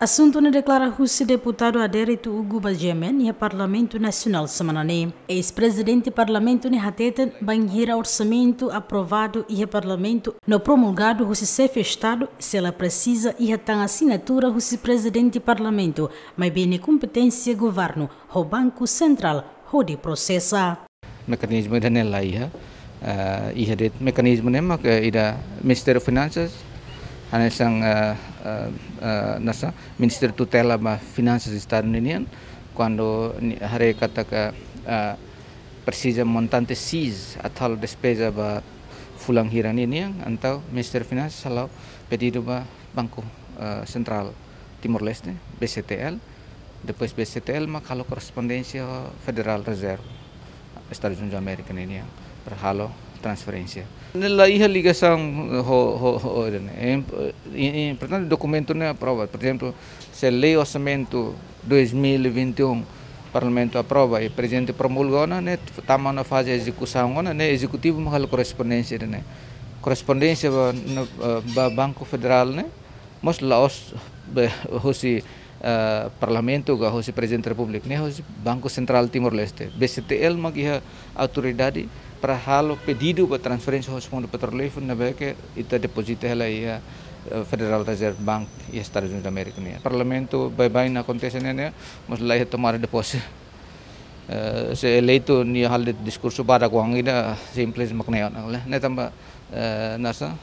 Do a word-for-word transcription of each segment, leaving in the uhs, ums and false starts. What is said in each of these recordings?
Asuntu ne'e deklara husi deputadu aderitu Hugo ba GMN iha Parlamentu Nasionál semana ne'e. Eis-prezidente Parlamentu ne'e hateten bainhira orsamentu aprovadu iha Parlamentu no promulgadu husi Xefe Estadu, sei la presiza iha tan asinatura husi Prezidente Parlamentu, maibé ne'e kompeténsia governu ho Banku Sentrál hodi prosesa. Mekanizmu ida-ne'e la iha, eh, iha de'it mekanizmu ne'e mak, eh, ida Ministériu Finansas, hanesan, eh, eh, eh, nasa Ministériu tutela ba Finansas Estadu ninian, kuandu ni-, haree katak, eh, presiza montante X atu halo despeza ba fulan hira ninian, entaun Ministériu Finansas hala'o pedidu ba Banku, eh, Sentrál Timor-Leste, BCTL, depois BCTL mak halo korrespondénsia ho Federal Reserve Estadus Unidus Amérika ninian para halo transferénsia. Ne'e la iha ligasaun ho, ho, ho, ho, ne'e. Em, em, em, portantu, dokumentu ne'e aprova. Por ezemplu, se lei orsamentu dois mil e vinte e um Parlamentu aprova i Prezidente promulga ona, ne'e tama ona faze ezekusaun ona, ne'e Ezekutivu mak halo korrespondénsia ne'e. Korrespondénsia ba, na, eh, ba Banku Federál ne'e, mós la'ós be, husi, eh, Parlamentu ka husi Prezidente Repúblika, ne'e husi Banku Sentrál Timor-Leste. BCTL mak iha autoridade para halo pedidu ba transferénsia husi Fundu Petrolíferu ne'ebé ke ita depozita hela iha, eh, Federal Reserve Bank iha Estadus Unidus Amérika nian. Parlamentu baibain akontese ne'e, ne'e, mós la iha tomada de posse. Eh, se eleitu nia halo de'it diskursu badak oan ida simples mak ne'e ona, ne'e tanba, eh, nasa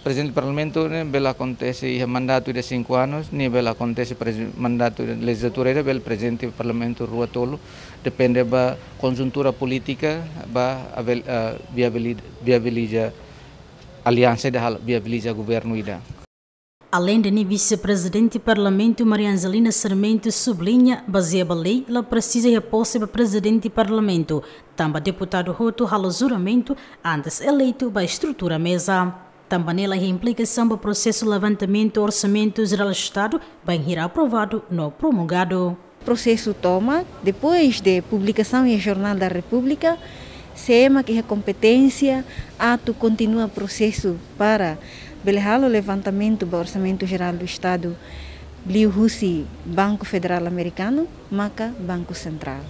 Prezidente Parlamentu ne'e bele akontese iha mandatu ida cinco anos, ne'e bele akontese prezi-, mandatu ida lejizlatura ida bele Prezidente Parlamentu rua tolu, depende ba konjuntura polítika, ba avel-, eh, viabili-, viabiliza aliansa ida halo, viabiliza governu ida. Aleinde ne'e, Vise-Prezidente Parlamentu Maria Angelina Sarmento subliña, bazeia ba lei, la presiza iha pose ba Prezidente Parlamentu, tanba deputadu hotu halo juramentu antes eleitu ba estrutura meza. Tanba ne'e la iha implikasaun ba prosesu levantamentu Orsamentu Jerál Estadu bainhira aprovadu no promulgadu. Prosesu tomak, depois de publikasaun iha Jornál da Repúblika, sé mak iha kompeténsia atu kontinua prosesu para bele halo levantamentu ba Orsamentu Jerál do Estadu liuhusi Banku Federál Amerikanu, maka Banku Sentrál.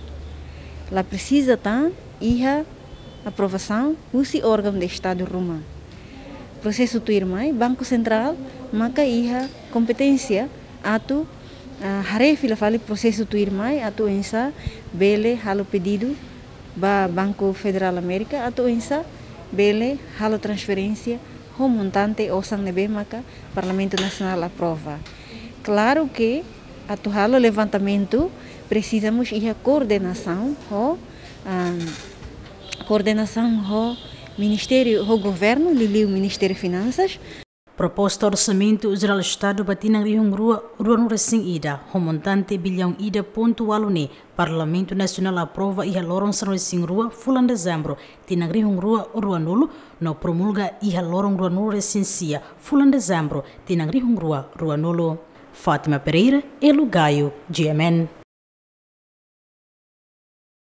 La presiza tan iha aprovasaun husi órgaun de Estadu ruma. Prosesu tuirmai, Banku Sentrál maka iha kompeténsia atu, ah, haree fila fali prosesu tuirmai atu oinsá bele halo pedidu ba Banku Federál Amérika atu oinsá bele halo transferénsia ho montante osan ne'ebé maka Parlamentu Nasionál aprova. Klaru ke atu halo levantamentu presiza mós iha koordenasaun ho, ah, koordenasaun ho Ministériu, ho Governu, liuliu Ministériu Finansas. Proposta Orsamentu Jerál Estadu ba tinan rihun rua ruanulu resin ida, ho montante billaun ida pontu ualu ne'e, Parlamentu Nasionál aprova iha loron sanulu resin rua fulan Dezembru tinan rihun rua ruanulu, no promulga iha loron ruanulu resin sia fulan Dezembru tinan rihun rua ruanulu. Fátima Pereira, Elo Gayo, GMN.